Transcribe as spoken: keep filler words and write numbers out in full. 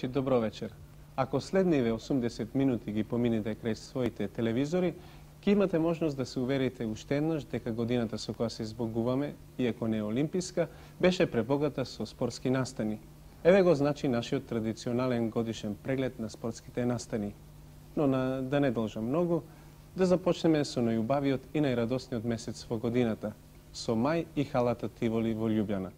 Добро вечер. Ако следниве осумдесет минути ги поминете крај своите телевизори, ќе имате можност да се уверите уште еднаш дека годината со која се избогуваме, иако не е олимписка, беше пребогата со спортски настани. Еве го значи нашиот традиционален годишен преглед на спортските настани. Но на, да не должам многу, да започнеме со најубавиот и најрадосниот месец во годината, со мај и халата Тиволи во Љубљана.